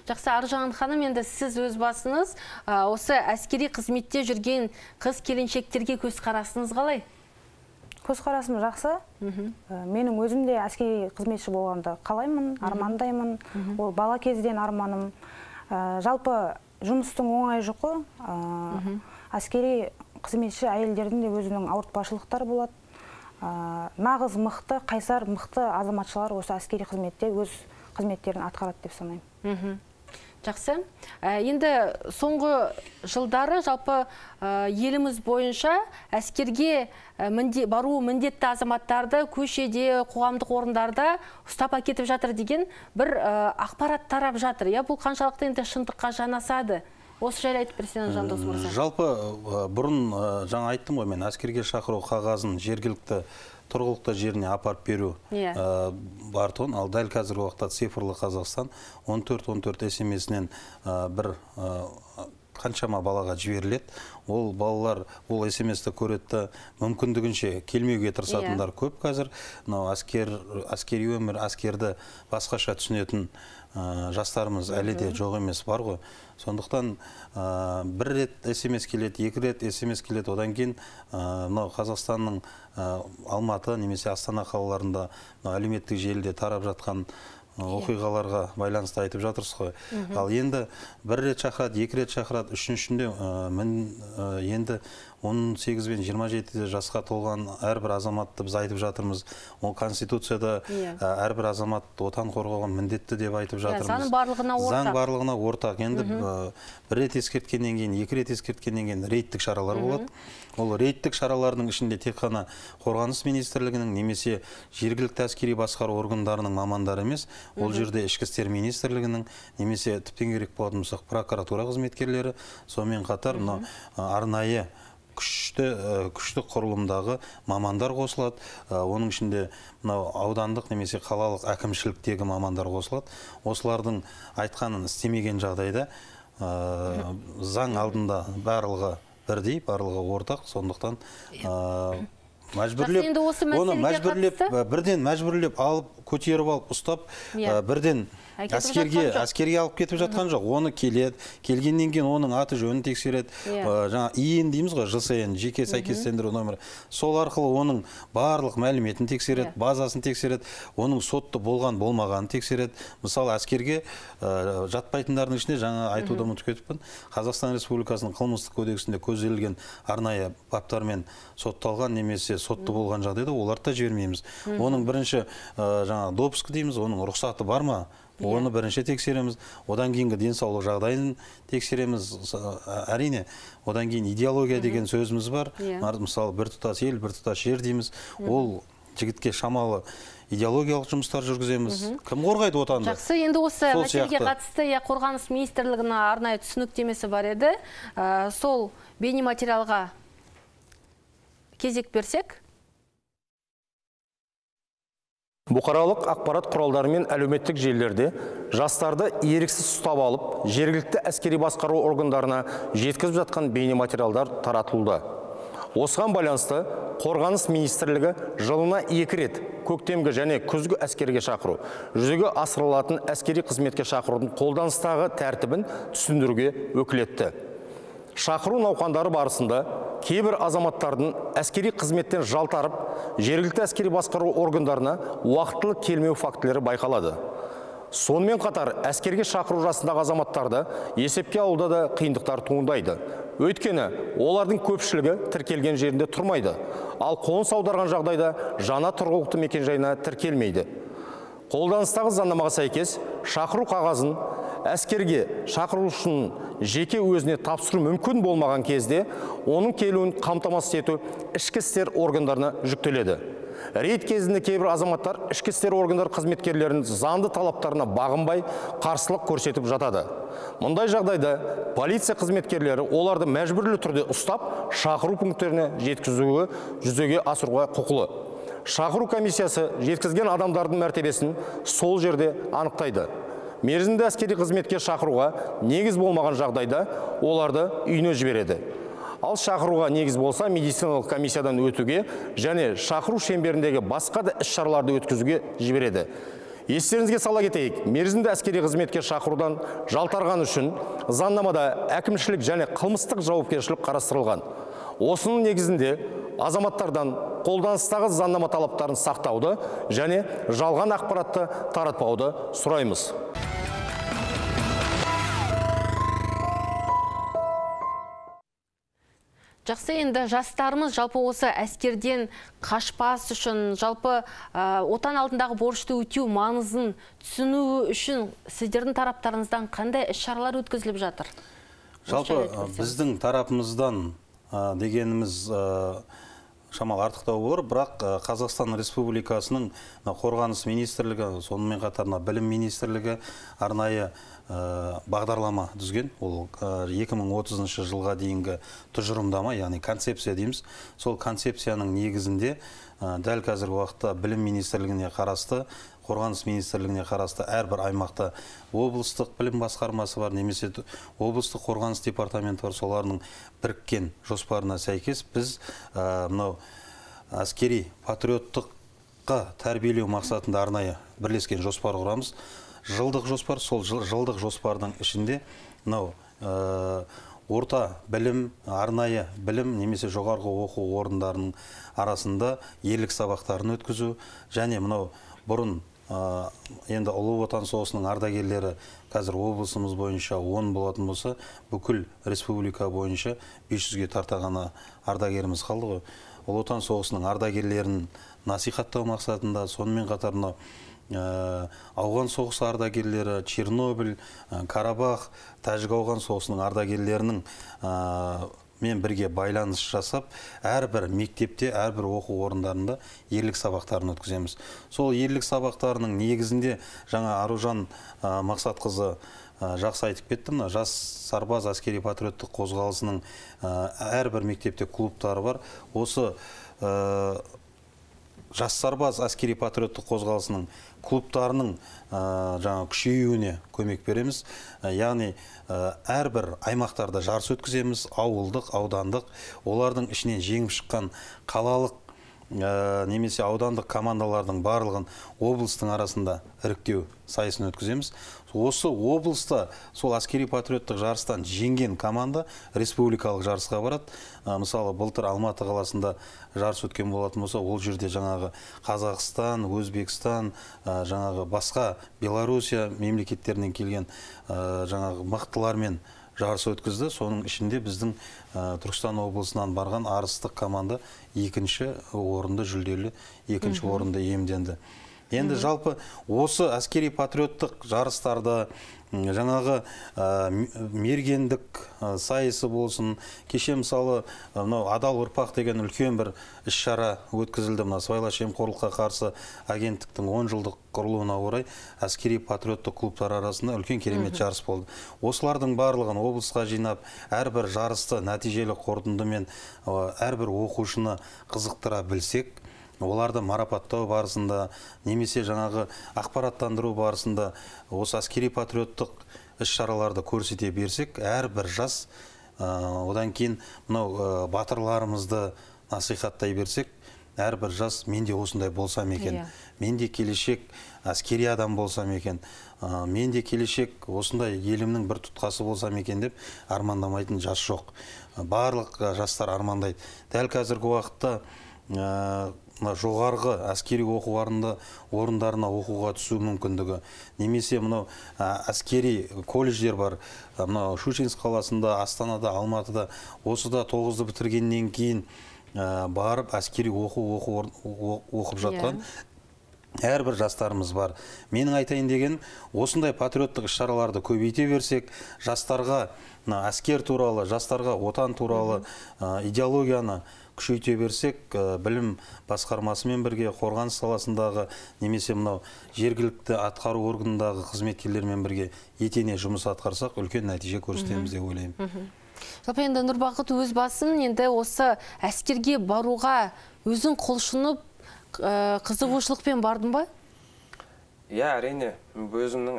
Жақсы, Аружан ханым, енді сіз өз басыңыз осы әскери қызметте жүрген қыз келіншектерге көзқарасыңыз қалай? Көзқарасым жақсы. Менің өзім де әскери қызметші болғанды қалаймын, армандаймын. Ол бала кезден арманым. Жалпы жұмыстың оңай жұқы. Әскери қызметші әйелдердің де өзінің ауыртпашылықтары болады. Нағыз мықты, қайсар мықты азаматшылар осы әскери қызметте өз қызметтерін атқарады деп санаймын. Жақсы. Енді соңғы жылдары жалпы еліміз бойынша әскерге бару міндетті азаматтарды көшеде, қоғамдық орындарда ұстап әкетіп жатыр деген бір ақпарат тарап жатыр. Бұл қаншалықты енді шындыққа жанасады? Осы жайлы айтып берсеңіз, Жандос мырза. Жалпы бұрын жаңа айттым ғой, мен әскерге шақыру қағазын жергілікті тұрғылықты жеріне апарып беру бар тұғын. Ал дәл қазіргі уақытта цифрлы Қазақстан 14-14 SMS-нен бір қаншама балаға жіберіледі. Ол балалар ол SMS-ті көретті, мүмкіндігінше келмеуге тырысатындар көп қазір. Әскери өмір, әскерді басқаша түсінетін жастарымыз әлі де жоқ емес бар ғой. Сондықтан бір рет SMS келеді, екі рет SMS келеді, одан кейін Қазақстанның Алматы немесе Астана қалаларында әлеуметтік желіде тарап жатқан оқиғаларға байланысты айтып жатырсыз ғой. Ал енді бір рет шақырады, екі рет шақырады, үшіншінде енді 18 бен 27 жасқа толған әрбір азаматты біз айтып жатырмыз. Ол Конституцияда әрбір азамат отан қорғауға міндетті деп айтып жатырмыз. Заң барлығына ортақ. Заң барлығына ортақ. Енді бір рет ескерткеннен кейін, екі рет ескерткеннен кейін рейдтік шаралар болады. Ол рейдтік шаралардың ішінде тек қана Қорғаныс министрлігінің немесе жергілікті әскери басқару органдарының мамандары емес, ол жерде Ішкі істер министрлігінің немесе тіптен керек болатын болсақ прокуратура қызметкерлері, сонымен қатар арнайы күшті құрылымдағы мамандар қосылады. Оның ішінде аудандық немесе қалалық әкімшіліктегі мамандар қосылады. Осылардың айтқанын істемеген жағдайда заң алдында барлығы бірдей, барлығы ортақ, сондықтан бірден мәжбүрлеп алып, көтеріп алып, ұстап, бірден әскерге алып кетіп жатқан жоқ. Оны келгеннен кейін оның аты жөнін тексереді. Жаңа ИН дейміз ғой, ЖСН, жеке сәйкестендіру нөмірі. Сол арқылы оның барлық мәліметін тексереді, базасын тексереді, оның сотты болған болмағанын тексереді. Мысалы, әскерге жатпайтындардың ішінде жаңа айтуды ұмытып кетіппін. Қазақстан Республикасының қылмыстық кодексінде көзделген арнайы баптармен сотталған немесе сотты болған жағдайда оларды да жібермейміз. Оның бірінші жаңа допуск дейміз, оның рұқсаты бар ма? Оны бірінші тексереміз, одан кейінгі денсаулық жағдайын тексереміз. Әрине, одан кейін идеология деген сөзіміз бар. Мысалы, біртұтас ел, біртұтас жер дейміз. Ол жігітке шамалы идеологиялық жұмыстар жүргіземіз. Кім қорғайды отанды? Жақсы, енді осы мәселеге қатысты Қорғаныс министрлігінің арнайы түсініктемесі бар еді. Сол бейнематериалға кезек берсек. Бұқаралық ақпарат құралдары мен әлеуметтік желілерде жастарды еріксіз ұстап алып, жергілікті әскери басқару органдарына жеткізіп жатқан бейнематериалдар таратылды. Осыған байланысты Қорғаныс министрлігі жылына 2 рет көктемгі және күзгі әскерге шақыру, жүзеге асырылатын әскери қызметке шақырудың қолданыстағы тәртібін түсіндіруге өкілетті. Шақыру науқандары барысында кейбір азаматтардың әскери қызметтен жалтарып, жергілікті әскери басқару органдарына уақытылы келмеу фактілері байқалады. Сонымен қатар әскерге шақыру жасындағы азаматтарды есепке алуда да қиындықтар туындайды. Өйткені олардың көпшілігі тіркелген жерінде тұрмайды, ал қоныс аударған жағдайда жаңа тұрғылықты мекенжайына тіркелмейді. Қолданыстағы заңнамаға сәйкес шақыру қағазын әскерге шақырылушының жеке өзіне тапсыру мүмкін болмаған кезде оның келуін қамтамасыз ету ішкі істер органдарына жүктеледі. Рейд кезінде кейбір азаматтар ішкі істер органдары қызметкерлерінің заңды талаптарына бағынбай қарсылық көрсетіп жатады. Мұндай жағдайда полиция қызметкерлері оларды мәжбүрлі түрде ұстап, шақыру пункттеріне жеткізуі жүзеге асыруға құқылы. Шақыру комиссиясы жеткізген адамдардың мәртебесін сол жерде анықтайды. Мерзімді әскери қызметке шақыруға негіз болмаған жағдайда оларды үйіне жібереді. Ал шақыруға негіз болса, медициналық комиссиядан өтуге және шақыру шеңберіндегі басқа да іс-шараларды өткізуге жібереді. Естеріңізге сала кетейік, мерзімді әскери қызметке шақырудан жалтарған үшін заңнамада әкімшілік және қылмыстық жауапкершілік қарастырылған. Осының негізінде азаматтардан қолданыстағы заңнама талаптарын сақтауды және жалған ақпаратты таратпауды сұраймыз. Жақсы, енді жастарымыз жалпы осы әскерден қашпас үшін, жалпы отан алдындағы борышты өтеу маңызын түсіну үшін сіздердің тараптарыңыздан қандай іс-шаралар өткізіліп жатыр? Жалпы біздің тарапымыздан дегеніміз шамал артықтау болар, бірақ Қазақстан Республикасының қорғаныс министрлігі, сонымен қатар білім министрлігі арнайы бағдарлама дүзген. Ол 2030 жылға дейінгі тұжырымдама, яғни концепция дейміз. Сол концепцияның негізінде дәл қазіргі уақытта білім министрлігіне қарасты, қорғаныс министрлігіне қарасты әрбір аймақта облыстық білім басқармасы бар, немесе облыстық қорғаныс департаменті бар. Солардың біріккен жоспарына сәйкес біз мынау әскери патриоттыққа тәрбиелеу мақсатында арнайы бірлескен жоспар құрамыз. Жылдық жоспар, сол жылдық жоспардың ішінде мынау орта білім, арнайы білім, немесе жоғарғы оқу орындарының арасында ерлік сабақтарын өткізу, және мынау бұрын енді Ұлы Отан соғысының ардагерлері қазір облысымыз бойынша 10 болатын болса, бүкіл республика бойынша 500-ге тартағаны ардагеріміз қалды ғой. Ұлы Отан соғысының ардагерлерін насихаттау мақсатында, сонымен қатар ауған соғысы ардагерлері, Чернобыль, Карабах, Тәжік ауған соғысының ардагерлерінің мен бірге байланыс жасап, әрбір мектепте, әрбір оқу орындарында ерлік сабақтарын өткіземіз. Сол ерлік сабақтарының негізінде жаңа Аружан Мақсатқызы жақсы айтып кетті. Жас сарбаз әскери патриоттық қозғалысының әрбір мектепте клубтары бар. Осы жас сарбаз әскери патриоттық қозғалысының клубтарының жаңа күшеюіне көмек береміз. Яғни әрбір аймақтарда жарыс өткіземіз, ауылдық, аудандық. Олардың ішінен жеңіп шыққан қалалық немесе аудандық командалардың барлығын облыстың арасында іріктеу сайысын өткіземіз. Осы облыста сол әскери патриоттық жарыстан жеңген команда республикалық жарысқа барады. Мысалы, былтыр Алматы қаласында жарыс өткен болатын болса, ол жерде жаңағы Қазақстан, Өзбекстан, жаңағы басқа Белоруссия мемлекеттерінен келген жаңағы мықтылармен жарыс өткізді. Соның ішінде біздің Түркістан облысынан барған арыстық команда екінші орынды жүлделі, екінші орынды иемденді. Енді жалпы осы әскери патриоттық жарыстарда жаңағы мергендік сайысы болсын, кеше мысалы Адал ұрпақ деген үлкен бір іс-шара өткізілді. Сыбайлас жемқорлыққа қарсы агенттіктің 10 жылдық құрылуына орай әскери патриоттық клубтар арасында үлкен керемет жарыс болды. Осылардың барлығын облысқа жинап, әрбір жарысты нәтижелі қорытындымен әрбір оқушыны қызықтыра білсек, оларды марапаттау барысында, немесе жаңағы ақпараттандыру барысында осы әскери патриоттық іс-шараларды көрсете берсек, әрбір жас, одан кейін мынау батырларымызды насихаттай берсек, әрбір жас менде осындай болсам екен, менде келешек әскери адам болсам екен, менде келешек осындай елімнің бір тұтқасы болсам екен деп армандамайтын жас жоқ. Барлық жастар армандайды. Дәл қазіргі уақытта жоғарғы әскери оқу орындарына оқуға түсу мүмкіндігі, немесе мынау әскери колледждер бар, мынау Щучинск қаласында, Астанада, Алматыда, осыда 9-ды бітіргеннен кейін барып әскери оқып жатқан әрбір жастарымыз бар. Менің айтайын деген, осындай патриоттық іс-шараларды көбейте берсек, жастарға әскер туралы, жастарға отан туралы идеологияны күшейте берсек, білім басқармасымен бірге қорғаныс саласындағы немесе мынау жергілікті атқару органындағы қызметкерлермен бірге етене жұмыс атқарсақ, үлкен нәтиже көрсетеміз деп ойлаймын. Жалпы енді Нұрбақыт өз басын енді осы әскерге баруға өзің құлшынып, қызығушылықпен бардың ба? Иә, әрине, өзімнің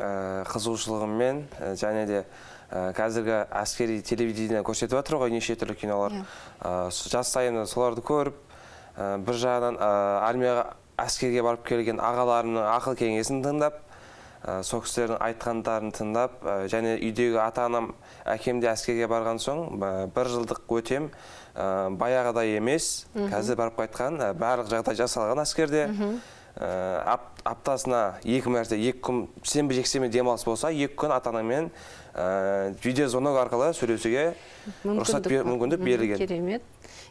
қызығушылығыммен және де қазіргі әскери телевидение көрсетіп жатыр ғой, неше түрлі кинолар. Жас сайын соларды көріп, бір жағынан армияға әскерге барып келген ағаларымның ақыл кеңесін тыңдап, сол кісілердің айтқандарын тыңдап, және үйдегі ата-анам, әкем де әскерге барған соң, бір жылдық өтем баяғыдай емес, қазір барып қайтқан, барлық жағдай жасалған әскерде. Аптасына 2 мәрте, 2 күн сенбі жексенбі демалыс болса, 2 күн ата-анамен видеозвонок арқылы сөйлесуге мүмкіндік берілген. Керемет.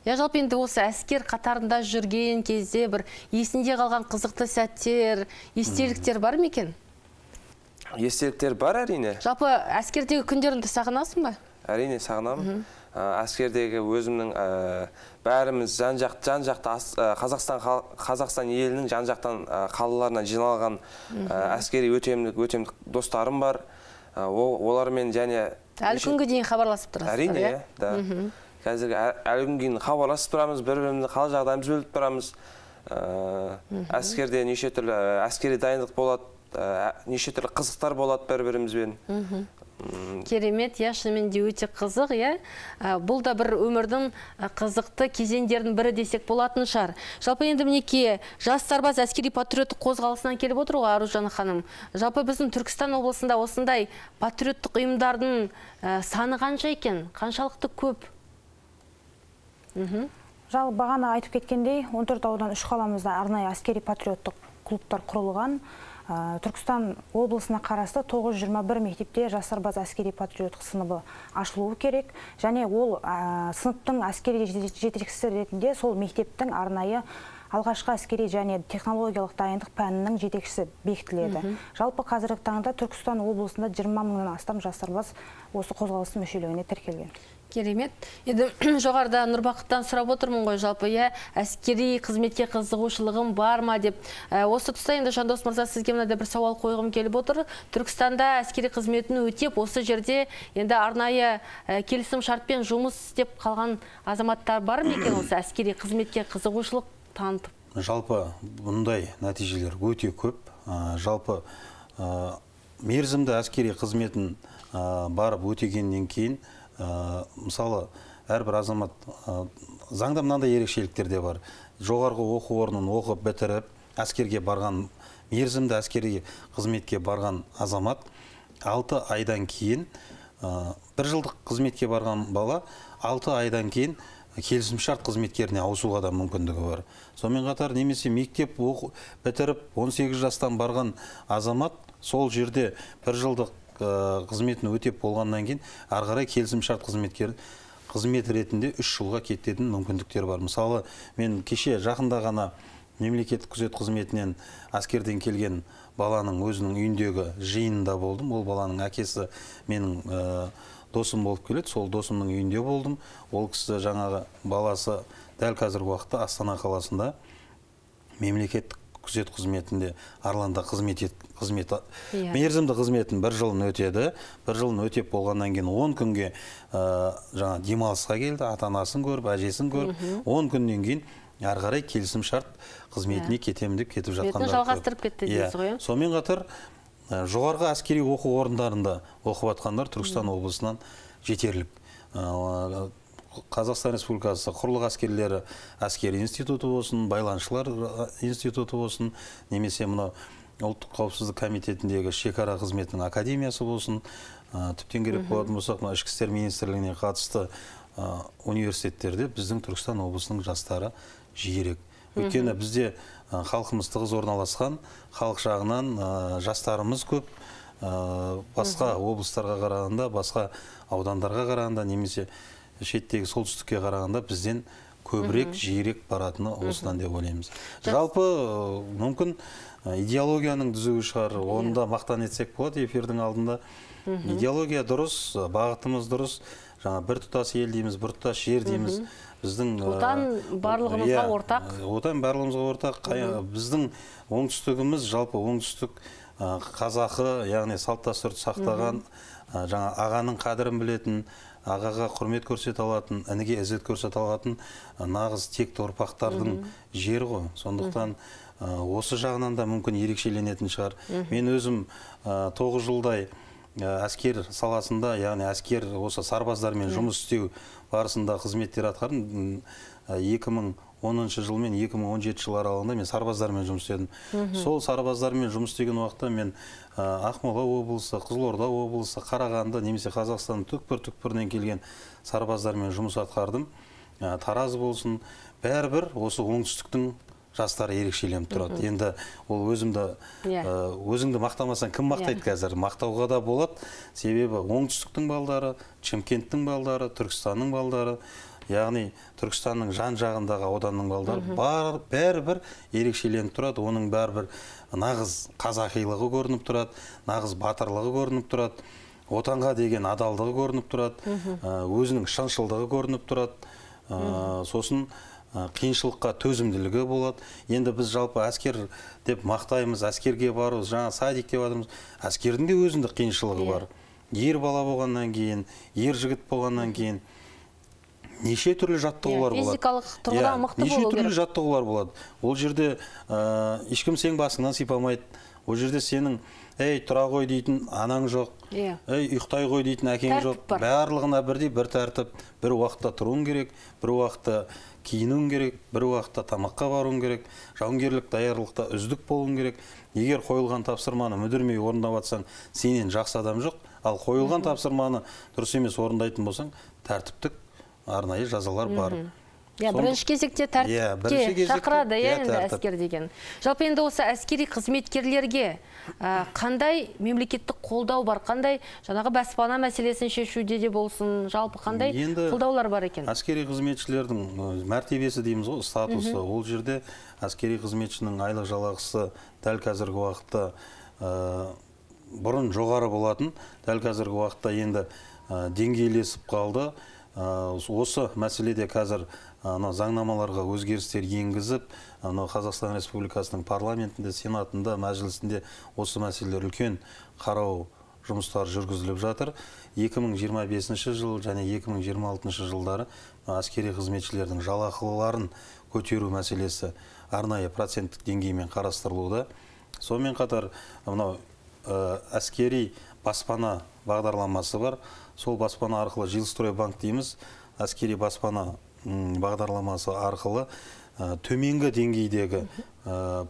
Я жалпы енді осы әскер қатарында жүрген кезде бір есінде қалған қызықты сәттер, естеліктер бар ма екен? Естеліктер бар, әрине. Жалпы әскердегі күндеріңді сағынасың ба? Әрине сағынамын. Әскердегі өзімнің бәріміз жан-жақты Қазақстан елінің жан-жақтан қалаларына жиналған әскери өтемдік достарым бар. Олармен және әлі күнге дейін хабарласып тұрасыздар? Әрине, да. Қазір әлі күнге дейін хабарласып тұрамыз, бір-бірімізді қал жағдайымыз бөліп тұрамыз. Әскерде неше түрлі әскери дайындық болады, неше түрлі қызықтар болады бір-бірімізбен. Керемет, я шынымен де өте қызық, я. Бұл да бір өмірдің қызықты кезеңдердің бірі десек болатын шығар. Жалпы енді мінеке, жас сарбаз әскери патриоттық қозғалысынан келіп отыр ғой, Аружан ханым. Жалпы біздің Түркістан облысында осындай патриоттық ұйымдардың саны қанша екен? Қаншалықты көп? Жалпы бағана айтып кеткендей, 14 аудан 3 қаламызда арнайы әскери патриоттық клубтар құрылған. Түркістан облысына қарасты 921 мектепте жас сарбаз әскери патриоттық сыныбы ашылуы керек. Және ол сыныптың әскери жетекшісі ретінде сол мектептің арнайы алғашқы әскери және технологиялық дайындық пәнінің жетекшісі бекітіледі. Жалпы қазіргі таңда Түркістан облысында 20 мыңнан астам жас сарбаз осы қозғалыстың мүшелігіне тіркелген. Керемет. Енді жоғарда Нұрбақыттан сұрап отырмын ғой, жалпы әскери қызметке қызығушылығым бар ма деп. Осы тұста енді Жандос мырза, сізге мынандай бір сауал қойғым келіп отыр. Түркістанда әскери қызметін өтеп, осы жерде енді арнайы келісім шартпен жұмыс істеп қалған азаматтар бар ма екен, осы әскери қызметке қызығушылық танытып? Жалпы бұндай нәтижелер өте көп. Жалпы мерзімді әскери қызметін барып өтегеннен кейін, мысалы, әрбір азамат заңда мынандай ерекшеліктер де бар. Жоғарғы оқу орнын оқып бітіріп, әскерге барған, мерзімді әскери қызметке барған азамат 6 айдан кейін, бір жылдық қызметке барған бала 6 айдан кейін келісімшарт қызметкеріне ауысуға да мүмкіндігі бар. Сонымен қатар немесе мектеп бітіріп 18 жастан барған азамат сол жерде бір жылдық қызметін өтеп болғаннан кейін ары қарай келісімшарт қызмет ретінде 3 жылға кететін мүмкіндіктер бар. Мысалы, мен кеше жақында ғана мемлекеттік күзет қызметінен әскерден келген баланың өзінің үйіндегі жиынында болдым. Ол баланың әкесі менің досым болып келеді. Сол досымның үйінде болдым. Ол кісі жаңағы баласы дәл қазіргі уақытта Астана қаласында мемлекеттік күзет қызметінде Арланда мерзімді қызметін бір жылын өтеді. Бір жылын өтеп болғаннан кейін 10 күнге жаңа демалысқа келді, ата-анасын көріп, әжесін көріп, 10 күннен кейін ары қарай келісім шарт қызметіне кетемін деп кетіп жатқандар. Бетін жалғастырып кетті дейсіз ғой. Сонымен қатар жоғарғы әскери оқу орындарында оқып жатқандар Түркістан облысынан жетерлік. Қазақстан Республикасы құрлық әскерлері әскери институты болсын, байланысшылар институты болсын, немесе мына ұлттық қауіпсіздік комитетіндегі шекара қызметінің академиясы болсын, тіптен керек болатын болсақ, ішкі істер министрлігіне қатысты университеттерде біздің Түркістан облысының жастары жиірек. Өйткені бізде халқымыз тығыз орналасқан, халық жағынан жастарымыз көп, басқа облыстарға қарағанда, басқа аудандарға қарағанда, немесе шеттегі солтүстікке қарағанда бізден көбірек, жиірек баратыны осыдан деп ойлаймыз. Жалпы мүмкін идеологияның түзуі шығар, оны да мақтан етсек болады эфирдің алдында. Идеология дұрыс, бағытымыз дұрыс, жаңа біртұтас ел дейміз, біртұтас жер дейміз. Біздің отан барлығымызға ортақ. Отан барлығымызға ортақ. Біздің оңтүстігіміз, жалпы оңтүстік қазақы, яғни салт дәстүрді сақтаған, жаңа ағаның қадірін білетін, ағаға құрмет көрсете алатын, ініге ізет көрсете алатын нағыз текті ұрпақтардың жері ғой. Сондықтан осы жағынан да мүмкін ерекшеленетін шығар. Мен өзім 9 жылдай әскер саласында, яғни әскер осы сарбаздармен жұмыс істеу барысында қызметтер атқардым. 2010 жыл мен 2017 жыл аралығында мен сарбаздармен жұмыс істедім. Сол сарбаздармен жұмыс істеген уақытта мен Ақмола облысы, Қызылорда облысы, Қарағанды, немесе Қазақстанның түкпір-түкпірінен келген сарбаздармен жұмыс атқардым. Тараз болсын, бәрібір осы оңтүстіктің жастары ерекшеленіп тұрады. Енді ол өзіңді мақтамасаң кім мақтайды қазір? Мақтауға да болады. Себебі оңтүстіктің балдары, Шымкенттің балдары, Түркістанның балдары, яғни Түркістанның жан-жағындағы ауданның балдары бәрібір ерекшеленіп тұрады. Оның бәрібір нағыз қазақилығы көрініп тұрады, нағыз батырлығы көрініп тұрады, отанға деген адалдығы көрініп тұрады, өзінің шыншылдығы көрініп тұрады. Сосын қиыншылыққа төзімділігі болады. Енді біз жалпы әскер деп мақтаймыз, әскерге бару, жаңа садик деп адамыз. Әскердің де өзіндік қиыншылығы бар. Ер бала болғаннан кейін, ер жігіт болғаннан кейін неше түрлі жаттығулар болады. Физикалық тұрғыдан мықты болу керек. Неше түрлі жаттығулар болады. Ол жерде ешкім сен басыңнан сипамайды. Ол жерде сенің «Ей, тұра ғой» дейтін анаң жоқ, «Ей, ұйықтай ғой» дейтін әкең жоқ. Барлығына бірдей бір тәртіп. Бір уақытта тұруың керек, бір уақытта киінуің керек, бір уақытта тамаққа баруың керек, жауынгерлік даярлықта үздік болуың керек. Егер қойылған тапсырманы мүдірмей орындап жатсаң, сенен жақсы адам жоқ. Ал қойылған тапсырманы дұрыс емес орындайтын болсаң, тәртіптік арнайы жазалар бар. Бірінші кезекте тәртіпке шақырады енді әскер деген. Жалпы енді осы әскери қызметкерлерге қандай мемлекеттік қолдау бар, қандай жаңағы баспана мәселесін шешуде де болсын, жалпы қандай қолдаулар бар екен? Әскери қызметшілердің мәртебесі дейміз ғой, статусы. Ол жерде әскери қызметшінің айлық жалақысы дәл қазіргі уақытта бұрын жоғары болатын, дәл қазіргі уақытта енді деңгейлесіп қалды. Осы мәселеде қазір заңнамаларға өзгерістер енгізіп, Қазақстан Республикасының парламентінде, сенатында, мәжілісінде осы мәселелер үлкен қарау жұмыстары жүргізіліп жатыр. 2025 жыл және 2026 жылдары әскери қызметшілердің жалақыларын көтеру мәселесі арнайы проценттік деңгеймен қарастырылуда. Сонымен қатар әскери баспана бағдарламасы бар. Сол баспана арқылы Жилстройбанк дейміз, әскери баспана бағдарламасы арқылы төменгі деңгейдегі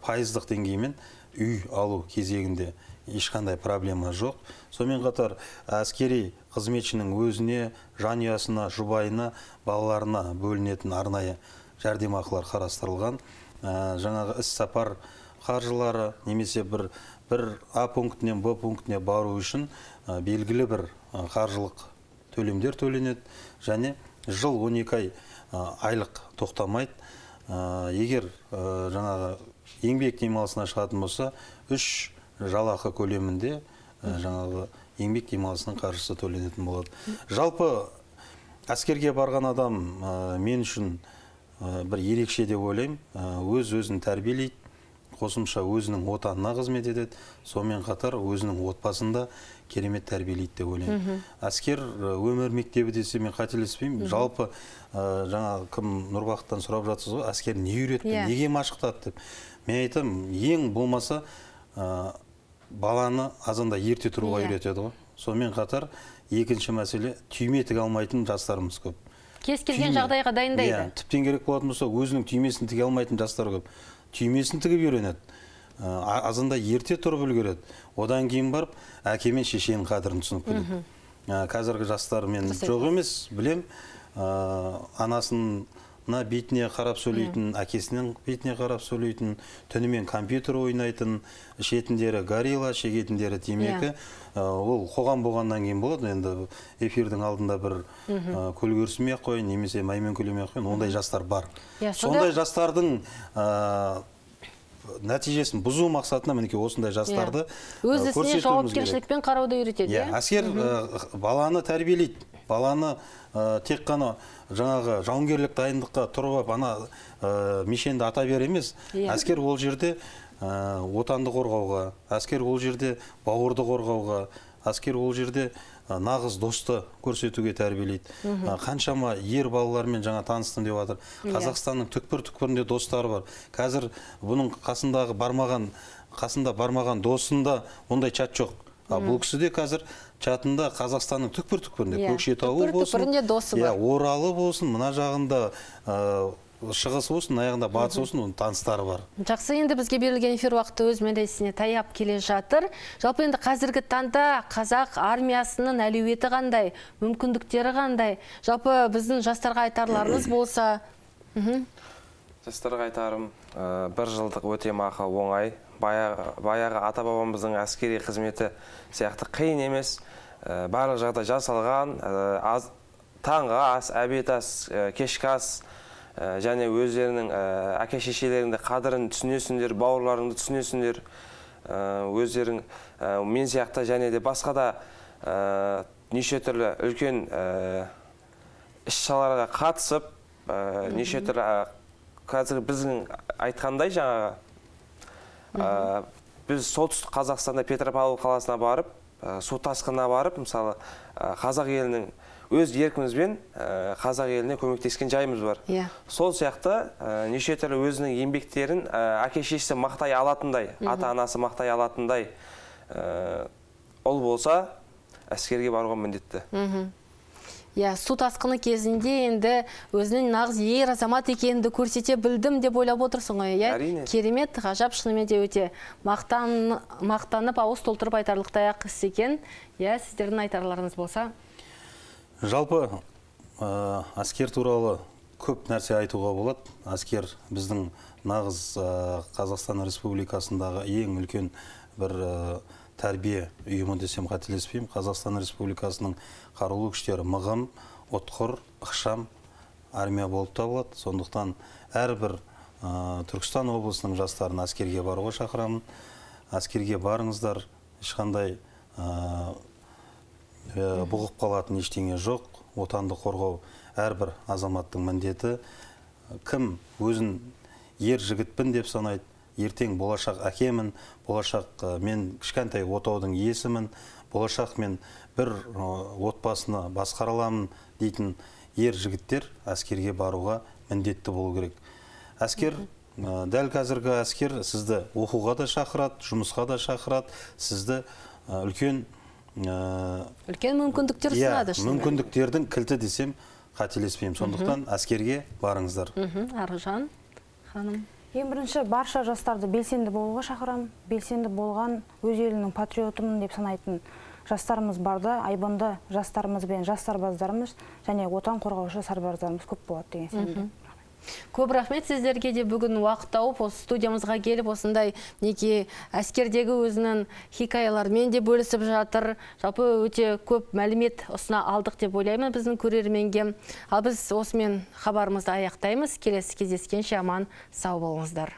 пайыздық деңгеймен үй алу кезегінде ешқандай проблема жоқ. Сонымен қатар әскери қызметшінің өзіне, жанұясына, жұбайына, балаларына бөлінетін арнайы жәрдемақылар қарастырылған. Жаңағы іс-сапар қаржылары немесе бір А пунктінен Б пунктіне бару үшін белгілі бір қаржылық төлемдер төленеді және жыл 12 ай айлық тоқтамайды. Егер жаңағы еңбек демалысына шығатын болса, 3 жалақы көлемінде жаңағы еңбек демалысының қаржысы төленетін болады. Жалпы әскерге барған адам мен үшін бір ерекше деп ойлаймын. Өз-өзін тәрбиелейді, қосымша өзінің отанына қызмет етеді, сонымен қатар өзінің отбасында керемет тәрбиелейді деп ойлаймын. Әскер өмір мектебі десе мен қателеспеймін. Жалпы жаңа кім Нұрбақыттан сұрап жатсыз ғой, әскер не үйретті, неге машықтады деп. Мен айтам, ең болмаса баланы азанда ерте тұруға үйретеді ғой. Сонымен қатар екінші мәселе, түйме тіге алмайтын жастарымыз көп. Кез келген жағдайға дайындайды. Тіптен керек болатын болса, өзінің түймесін тіге алмайтын жастар көп. Түймесін тігіп үйренеді. Азында ерте тұрып үлгереді. Одан кейін барып, әке мен шешенің қадірін түсініп біледі. Қазіргі жастар мен жоқ емес, білем, анасына бетіне қарап сөйлейтін, әкесінің бетіне қарап сөйлейтін, түнімен компьютер ойнайтын, ішетіндері горилла, шегетіндері темекі. Ол қоғам болғаннан кейін болады. Енді эфирдің алдында бір көлгөрсімей ақ қойын, немесе маймен көлемей ақ қойын, ондай жастар бар. Сондай жастардың нәтижесін бұзу мақсатында мінекей осындай жастарды өз ісіне көрсетуіміз керек. жауапкершілікпен қарауды үйретеді. Әскер баланы тәрбиелейді. Баланы тек қана жаңағы жауынгерлік дайындыққа тұрып ана мишенді ата бер емес. Әскер ол жерде отанды қорғауға, әскер ол жерде бауырды қорғауға, әскер ол жерде нағыз досты көрсетуге тәрбиелейді. Қаншама ер балалармен жаңа таныстым деп жатыр. Қазақстанның түкпір-түкпірінде достары бар. Қазір бұның қасында бармаған досында ондай чат жоқ. Бұл кісіде қазір чатында Қазақстанның түкпір-түкпірінде, Көкшетауы болсын, Оралы болсын, мына жағында шығысы болсын, аяғында батысы болсын, оның таныстары бар. Жақсы, енді бізге берілген эфир уақыты өз мәресіне таяп келе жатыр. Жалпы енді қазіргі таңда қазақ армиясының әлеуеті қандай, мүмкіндіктері қандай? Жалпы біздің жастарға айтарларыңыз болса? Жастарға айтарым, бір жылдық өтемақы оңай. Баяғы ата-бабамыздың әскери қызметі сияқты қиын емес. Барлық жағдай жасалған, таңғы ас, обед ас, кешкі ас, және өздерінің әке-шешелеріңді қадірін түсінесіңдер, бауырларыңды түсінесіңдер. Өздерің мен сияқты және де басқа да неше түрлі үлкен іс-шараларға қатысып, неше түрлі қазір біздің айтқандай жаңағы біз солтүстік Қазақстанда Петропавл қаласына барып, су тасқынына барып, мысалы қазақ елінің өз еркімізбен қазақ еліне көмектескен жайымыз бар. Сол сияқты неше түрлі өзінің еңбектерін әке-шешесі мақтай алатындай, ата-анасы мақтай алатындай ол болса, әскерге баруға міндетті. Су тасқыны кезінде енді өзінің нағыз ер азамат екенді көрсете білдім деп ойлап отырсың ғой. Әрине. Керемет, ғажап, шынымен де өте мақтанып, ауыз толтырып айтарлықтай ақ іс екен. Сіздердің айтарларыңыз болса? Жалпы әскер туралы көп нәрсе айтуға болады. Әскер біздің нағыз Қазақстан Республикасындағы ең үлкен бір тәрбие ұйымы десем қателеспеймін. Қазақстан Республикасының қарулы күштері мығым, отқыр, ықшам армия болып табылады. Сондықтан әрбір Түркістан облысының жастарын әскерге баруға шақырамын. Әскерге барыңыздар, ешқандай бұғып қалатын ештеңе жоқ. Отанды қорғау әрбір азаматтың міндеті. Кім өзін ер жігітпін деп санайды, ертең болашақ әкемін, болашақ мен кішкентай отаудың иесімін, болашақ мен бір отбасыны басқара аламын дейтін ер жігіттер әскерге баруға міндетті болу керек. Әскер, дәл қазіргі әскер сізді оқуға да шақырады, жұмысқа да шақырады, сізді үлкен мүмкіндіктер ұсынады. Мүмкіндіктердің кілті десем қателеспеймін. Сондықтан әскерге барыңыздар. Аружан ханым. Ең бірінші барша жастарды белсенді болуға шақырамын. Белсенді болған өз елінің патриотымын деп санайтын жастарымыз барда, айбынды жастарымыз бен жас сарбаздарымыз және отан қорғаушы сарбаздарымыз көп болады деген сенімдемін. Көп рахмет сіздерге де бүгін уақыт тауып, осы студиямызға келіп, осындай неке әскердегі өзінің хикаяларымен де бөлісіп жатыр. Жалпы өте көп мәлімет ұсына алдық деп ойлаймын біздің көрерменге. Ал біз осымен хабарымызды аяқтаймыз. Келесі кездескенше аман сау болыңыздар.